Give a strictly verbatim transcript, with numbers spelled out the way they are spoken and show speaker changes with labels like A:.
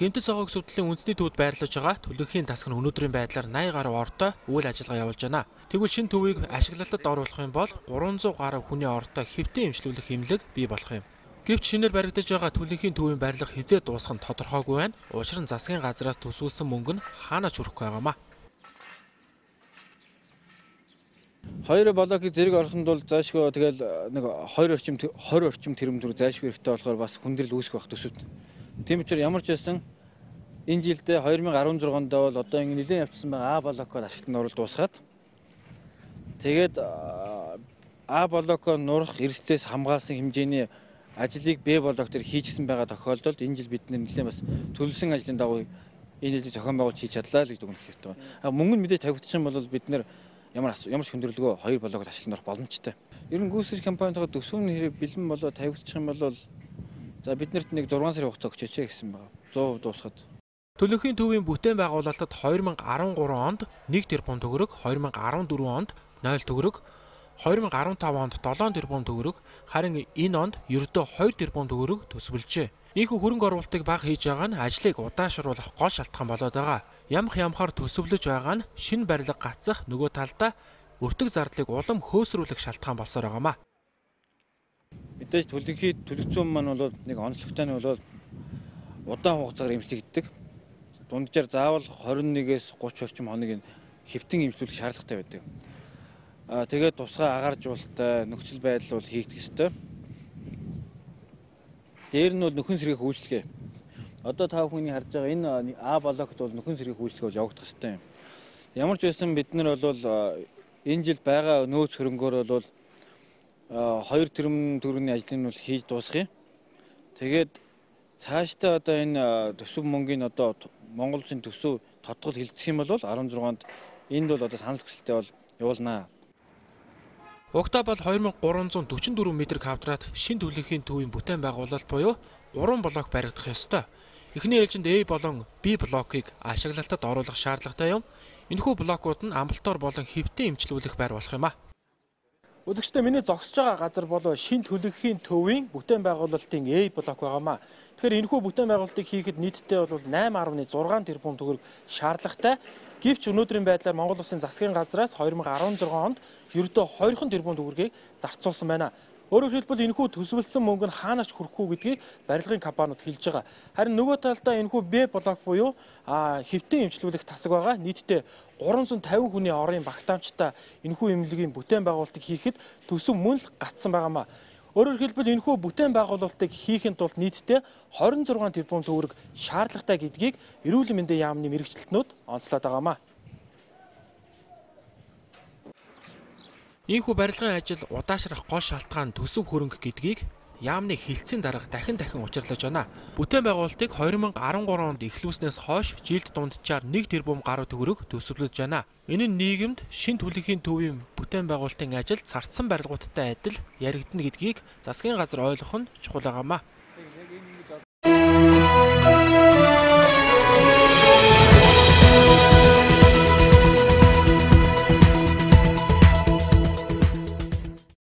A: Гэмтэл цогог сүтлэлийн үндэсний төвд байрлаж байгаа төлөвхийн тасаг нь өнөөдрийн байдлаар восемь гаруй ортой үйл ажиллагаа явуулж байна. Тэгвэл шинэ төвийг ашиглалтад оруулах юм бол гурван зуун гаруй хүний ортой хэвтэн эмчлүүлэх эмнэлэг бий болох юм. Гэвч шинээр баригдаж байгаа төлөвхийн төвийн барилга хизээ дуусах нь тодорхойгүй байна. Учир нь засгийн газраас төсвөлсөн мөнгө нь хаанаач хүрэхгүй байгаамаа.
B: Хоёр блокийг зэрэг ороход бол заашгүй тэгэл нэг хоёр орчим тwenty орчим тэрбум төгрөг заашгүй хэрэгтэй болохоор бас хүндрэл үүсэх байх төсөвт. Тийм учраас ямар ч байсан энэ жилдээ twenty sixteen онд бол одоо ингэ нэлээд явцсан байгаа А блокод ашиглалтанд оруулалт дуусгаад тэгээд А блокоо нурах эрсдлээс хамгаалсан хэмжээний ажлыг Б блок дээр хийжсэн байгаа тохиолдолд энэ жил бид нэлээд бас төлөвлөсөн ажлын дагуу энэ жилийн зохион байгуулалт хийж чадлаа л гэж дүгнэх хэрэгтэй байна. Мөнгө нь мэдээж тавигдчих юм бол бид нэр ямар ямар ч хүндрэлгүй хоёр блокод ашиглан орох боломжтой. Ер нь гүйцэтгэж компанитойгоо төсвийн хэрэг бэлэн болоо тавигдчих юм бол за биднэрт нэг six сарын хугацаа өгчөөч гэсэн байгаа. one hundred дуусгаад.
A: Төлөвхийн төвийн бүтээн байгуулалтад twenty13 онд one тэрбум төгрөг, twenty14 онд zero төгрөг, twenty fifteen онд seven тэрбум төгрөг, харин энэ онд ердөө two тэрбум төгрөг төсвөлжээ. Ийхүү хөрөнгө оруулалтыг бага хийж байгаа нь ажлыг удаашруулах гол шалтгаан болоод байгаа. Ямх ямхаар төсөвлөж байгаа нь шинэ барилга гацах нөгөө талдаа өртөг зардлыг улам хөөсрүүлэх шалтгаан болсоор байгаамаа.
B: Мэдээж төлөвхийн төлөвцөн маань бол нэг онцлогтой нь бол удаан хугацаагаар эмчлэгддэг. Дунджаар заавал twenty-one-ээс thirty орчим хоног хэвтэн эмчлүүлэх шаардлагатай байдаг. Аа тэгээд тусгай агааржуулалттай нөхцөл байдал бол хийгдэх ёстой. Дээр нь бол нөхөн сэргийх үйлчлэгээ. Одоо та бүхний харж байгаа энэ А блокт бол нөхөн сэргийх үйлчлэгээ бол явагдах ёстой юм. Ямар ч байсан бид нар бол энэ жил байгаа нөөц хөрөнгөөр бол two тэрбум төгрөгийн ажлыг нь бол хийж дуусгая. Тэгээд цаашдаа одоо энэ төсөв мөнгөний одоо Монгол Улсын төсөв тодгол хилцэх юм бол sixteen онд энд бол одоо санал хүсэлтээ бол явуулнаа.
A: Угтаа бол twenty three forty-four м квадрат шинэ төлөвхийн төвийн бүтээн байгуулалт буюу three блок баригдах ёстой. Эхний ээлжинд A болон B блокийг ашиглалтад оруулах шаардлагатай юм. Энэхүү блокууд нь амбалтоор болон хэвтэн эмчлүүлэх байр болох юм а. Үзэгчдээ миний зогсож байгаа газар бол шинэ төлөвхийн төвийн бүтээн байгуулалтын A блок байгаамаа. Тэгэхээр энэхүү бүтээн байгуулалтыг хийхэд нийтдээ бол eight point six тэрбум төгрөг шаардлагатай. Гэвч өнөөдрийн байдлаар Монгол Улсын засгийн газраас twenty sixteen онд ердөө two тэрбум төгрөгийг зарцуулсан байна. Өөрөөр хэлбэл энэхүү төсвөлсөн мөнгө нь хаанаач хүрэхгүй гэдгийг барилгын компаниуд хэлж байгаа. Харин нөгөө талдаа энэхүү Б блок буюу хэвтэн эмчлүүлэх тасаг байгаа. Нийтдээ three hundred fifty хүний орын багтаамжтай энэхүү эмнэлгийн бүтээн байгуулалтыг хийхэд төсөв мөн л гацсан байгаамаа. Өөрөөр хэлбэл энэхүү бүтээн байгуулалтыг хийхэд тулд нийтдээ twenty-six тэрбум төгрөг шаардлагатай гэдгийг эрүүл мэндийн яамны мэрэгчлэтнүүд онцлоод байгаамаа. Ийхүү барилгын ажил удаашрах гол шалтгаан төсөв хөрөнгө гэдгийг яамны хэлцсийн дарга дахин дахин учирлаж байна. Бүтээн байгуулалтыг twenty thirteen онд эхлүүлснээс хойш жилд дунджаар one тэрбум гаруй төгрөг төсөвлөж байна. Энэ нь нийгэмд шинэ төлөвхийн төвийн бүтээн байгуулалтын ажил цардсан барилгуудтай адил яригдана гэдгийг засгийн газар ойлгох нь чухал байгаамаа.